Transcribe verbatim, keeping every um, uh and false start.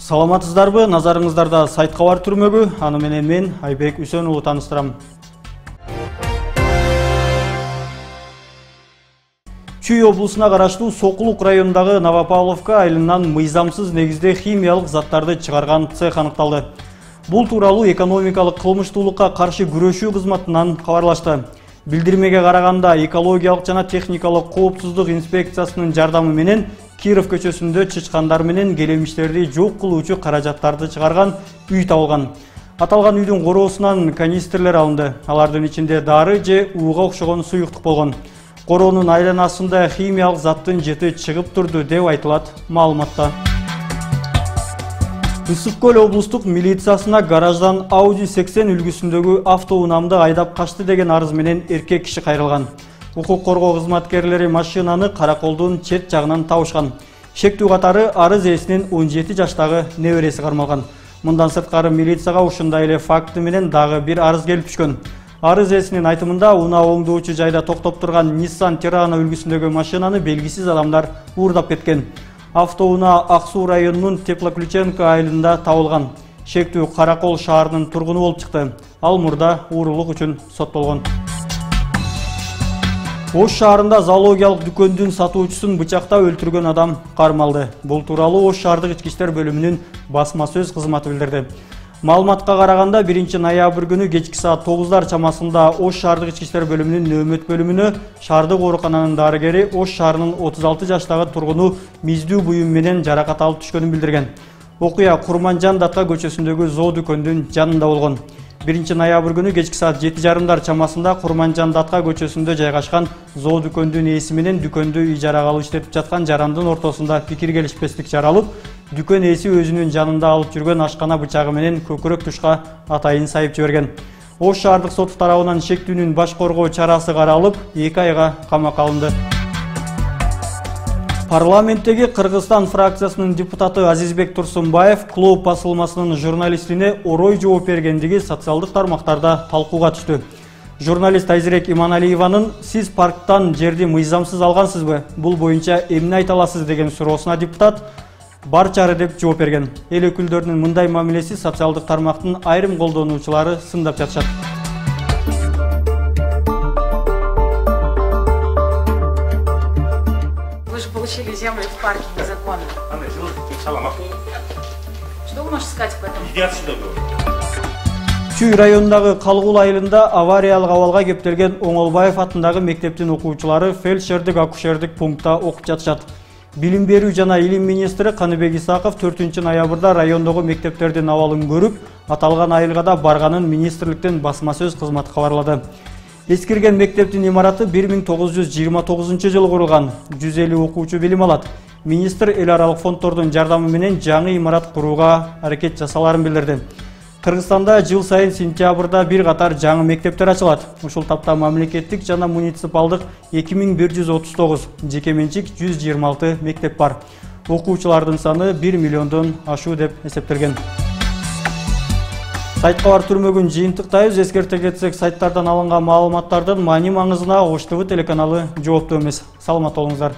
Саламатсыздарбы? Назарыңыздарда сайт кабар түрмөгү. Аны менен мен Айбек Үсөн уулу тааныстырам. Чүй облусуна караштуу Сокулук районундагы Новопавловка айылынан мыйзамсыз негизде химиялык заттарды чыгарган цех аныкталды. Бул тууралуу экономикалык кылмыштуулукка каршы күрөшүү кызматынан кабарлашты. Билдирмеге караганда экологиялык жана техникалык коопсуздук инспекциясынын жардамы менен Киров көчөсүндө чычкандар менен келемиштерди жок кылуучу каражаттарды чыгарган үй табылган. Аталган үйдүн короосунан канистрлер алынды. Алардын ичинде дары же ууга окшогон суюктук болгон. Короонун айланасында химиялык заттын жети чыгып турду деп айтылат маалыматта. Ысык Көл облустук милициясына гараждан Audi сексен үлгүсүндөгү автоунаамды айдап качты деген арыз менен эркек киши кайрылган. Укук коргоо кызматкерлери машинаны Караколдун чет жагынан табышкан. Шектүү катары арыз ээсинин он жети жаштагы небереси кармалган. Мындан сырткары милицияга ушундай эле факты менен дагы бир арыз келип түшкөн. Арыз ээсинин айтымында унаа оңдоочу жайда токтоп турган Nissan Terrano үлгүсүндөгү машинаны белгисиз адамдар уурдап кеткен. Автоунаа Ак Суу районунун Теплоключенко айылында табылган. Шектүү Каракол шаарынын тургуну болуп чыкты. Ал мурда уурулук үчүн соттолгон. Ош шаарында зоологиялык дүкөндүн сатуучусун бычактап өлтүргөн адам кармалды. Бул тууралуу Ош шаардык ички иштер бөлүмүнүн басма сөз кызматы билдирди. Маалыматка караганда биринчи ноябрь күнү кечки саат тогуздар чамасында Ош шаардык ички иштер бөлүмүнүн нөөмөт бөлүмүнө шаардык оорукананын дарыгери Ош шаарынын отуз алты жаштагы тургуну миздүү буюм менен жаракат алып түшкөнүн билдирген. Окуя Курманжан Датка көчөсүндөгү зоо дүкөндүн жанында болгон. биринчи ноябрь күнү кечки саат жети жарымдар чамасында Курманжан Датка көчөсүндө жайгашкан зоо дүкөндүн ээси менен дүкөндү ижарага алып иштетип жаткан жарандын ортосунда пикир келишпестик жаралып, дүкөн ээси өзүнүн жанында алып жүргөн ашкана бычагы менен көкүрөк тушка атайын сайып жиберген. Ош шаардык соту тарабынан шектүүнүн баш коргоо чарасы каралып, эки айга камакка алынды. Парламенттеги Кыргызстан фракциясынын депутаты Азизбек Турсунбаев клуб басылмасынын журналистине орой жооп бергендиги социалдык тармактарда талкууга түштү. Журналист Айзирек Иманалиеванын "Сиз парктан жерди мыйзамсыз алгансызбы? Бул боюнча эмне айта аласыз?" деген суроосуна депутат "Барчары" деп жооп берген. Эл өкүлдөрүнүн мындай мамилеси социалдык тармактын айрым колдонуучулары сындап жатышат. Вы же получили землю в парке незаконно. Что вы можете сказать по этому? Иди отсюда, говорю. Чүй районундагы Калгул айылында авариялык абалга кептелген Оңолбаев атындагы мектептин окуучулары фельдшердик акушердик пунктта окуп жатышат. Билим берүү жана илим министри Каныбек Исаков төртүнчү ноябрда райондогу мектептердин абалын көрүп, аталган айылга да барганын министрликтен басма сөз кызматы кабарлады. Эскирген мектептин имараты бир миң тогуз жүз жыйырма тогузунчу жылы курулган. жүз элүү окуучу билим алат. Министр эл аралык фонддордун жардамы менен жаңы имарат курууга аракет жасаларын билдирди. Кыргызстанда жыл сайын сентябрда бир катар жаңы мектептер ачылат. Ушул тапта мамлекеттик жана муниципалдык эки миң бир жүз отуз тогуз, жеке менчик жүз жыйырма алты мектеп бар. Окуучулардын саны бир миллиондон ашуу деп эсептелген. Сайт кабар түрмөгүн жыйынтыктайбыз. Эскерте кетсек, сайттардан алынган маалыматтардын маани маңызына Ош ТВ телеканалы жооптуу эмес. Саламат болуңуздар.